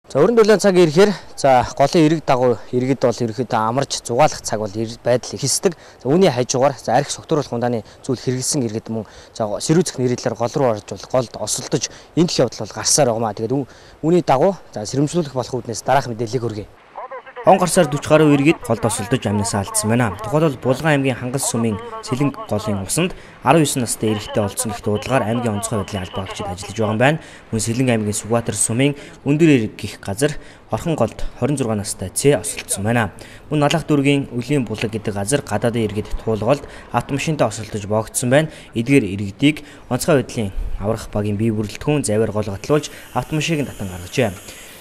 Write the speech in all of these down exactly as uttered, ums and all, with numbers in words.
За өрн дулаан цаг ирэхээр за голын эрэг дагуу иргэд бол ерөөхдөө амарч зугаалах цаг бол байдал ихсдэг. За үүний хажуугаар за арх согтууруулах ундааны зүйл хэрэгэлсэн иргэд мөн за сэрүүцэх нэрэлээр гол руу орж бол голд осолдож энэ дэх явдал бол гарсаар байгаа маа. Тэгээд үүний дагуу за сэрэмжлүүлэх болох үүднээс дараах мэдээллийг хүргэе. Он гарсаар сорок гаруй иргэд голд осолдож амнасаа алдсан байна. Тухайлбал Булган аймгийн Хангас сумын Сэлэнг голын усанд дөрвөн настай эрэгтэй олдсон гэх дуудлагаар аймгийн онцгой байдлын албаагчид ажиллаж байгаа юм байна. Мөн Сэлэнг аймгийн Сүгбаатар сумын Өндөр эрэг гэх газар Орхон голд хорин зургаан настай Цэ осолдсон байна. Мөн Налах дүүргийн Үлийн булаг гэдэг газар гадаадын иргэд туулголд автомашинтай осолдож боогдсон байна. Эдгээр иргэдийг онцгой байдлын аврах багийн бие бүрэлдэхүүн заваар гол готлуулж автомашиныг татан гаргажээ.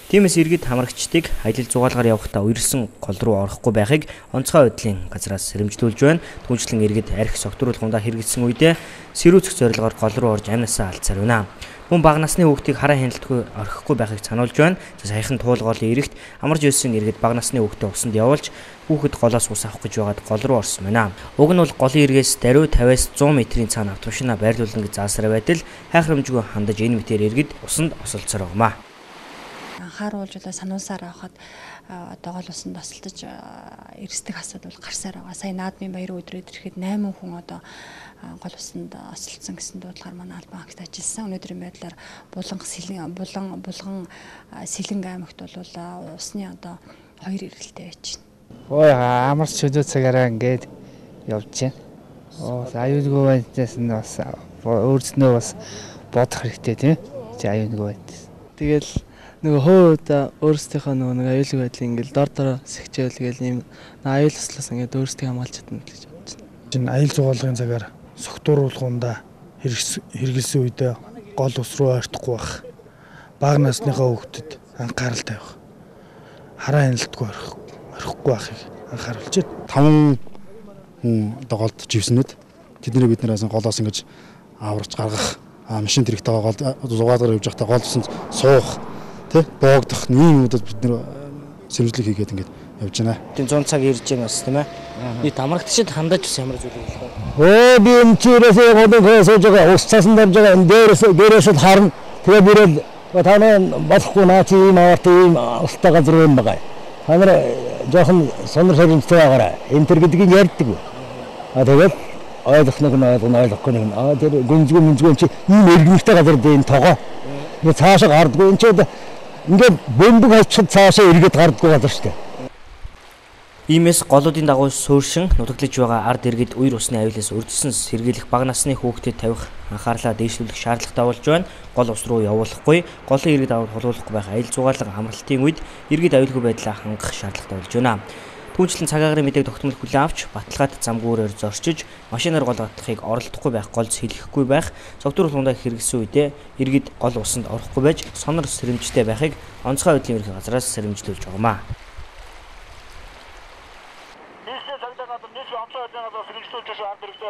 Тиймээс иргэд хамрагчдыг аялал зугаалгаар явахдаа үерсэн гол руу орохгүй байхыг онцгой байдлын газраас сэрэмжлүүлж байна. Түүнчлэн иргэд арх согтууруулах ундаа хэрэгэлсэн үедээ сэрүүцэх зорилгоор гол руу орж амнасаа алдсаар байна. Мөн бага насны хүүхдийг хараа хяналтгүй орхихгүй байхыг сануулж байна. За саяхан туулгоолын эрэгт амарч ирсэн иргэд бага насны хүүхдээ усанд явуулж хүүхэд голоос ус авах гэж байгаад гол руу орсон байна. Уг нь бол голын эргээс даруй тавиас зуун метрийн цаана автомашинаа байрлуулна гэж заасаар байтал хайхрамжгүй хандаж энэ мэтээр иргэд усанд осолцсоор байгаамаа. Анхааруулж одоо сануусаар авахад одоо гол усанд осолдож эрсдэх асуудал гарсаар байгаа. Сая наадмын баяр өдрөд ирэхэд найман хүн одоо гол усанд осолдсон гэсэн дуудлагаар манай албан хаагт ажилласан. Өнөөдрийн байдлаар Булан Сэлэн Булан Булган Сэлэнг аймагт бол усны одоо хоёр эргэлтэй байж байна. Ой амарч чөлөө цагаараа ингээд явж байна. Оо аюулгүй байдлаас нь бас өөрснөө бас бодох хэрэгтэй тийм. Чи аюулгүй байдлаас. Тэгэл нөгөө хөөдөө өөрсдийнхөө нөгөө нэг аюулгүй байдлыг ингээл дор дороо сэгчээл гээл ийм аюул туслаас ингээд өөрсдийг хамгаалж чадна гэж бодож байна. Чин аюул зугаалгын цагаар согтууруулахундаа хэрэгэлсэн үедээ гол ус руу ойртохгүй байх. Бага насныхаа хүүхдэд анхаарал тавих. Хараа хяналтгүй орхихгүй байхыг анхааруулж байна. Таван хүн одоо голд живснүүд тэднийг бид нараас голоос ингэж аварч гаргах машин тэрэгтэйгээ гол зугаалгаар явж байхдаа гол усанд суух тэ боогдох ийм юмудад бид нэр сэрэмжлэг хийгээд ингээд явж байна. Тийм зун цаг ирж байгаа бас тийм ээ. Би тамрагчид хандаж бас ямар зүйл хэлэх вэ? Өө би энэ чирээсээ годон сууж байгаа ус цасан дамж байгаа энэ дээрээс дээрээс л харна. Тэгээ бирэл танаа болохгүй наа чи ийм аварт ийм устай газар юм байгаа. Та нар жоохон сонор соринцтэй байгаарай. Энэ төр гэдгийг ярьдаг. А тэгээд ойлгох нэг нь ойлгоно ойлгохгүй нэг нь. А тэр гүнзгүү мүнзгүү чи ийм эргэнтэй газар дээр энэ тогоо. Энэ цаашаа гардгүй энэ ч ингээд бөмбөг хайчид цаашаа эргээд гардгүй газар шүү дээ. Иймээс голуудын дагуу сууршин нутаглаж байгаа ард иргэд үер усны аюулаас өрдсөн сэргийлэх бага насны хүүхдэд тавих анхаарлаа дээшлүүлэх шаардлагатай болж байна. Гол ус руу явуулахгүй, голын иргэд аваад холуулахгүй байх аюул зугаалга амралтын үед иргэд аюулгүй байдлаа хангах шаардлагатай болж байна. Түүнчлэн цаг агарын мэдээг тогтмол хүлээн авч баталгаат замгүүрээр зорчиж машинаар гол гатахыг оролдохгүй байх, голз хэлэхгүй байх, согтууруулах ундаа хэрэгэлсэн үедээ иргэд гол усанд орохгүй байж сонор сэрэмжтэй байхыг онцгой байдлын ерхий газраас сэрэмжлүүлж байгаамаа. Нийслэл цагтаа надад нийслэл онцгой байдлын газраас сэрэмжлүүлж ард иргэдэд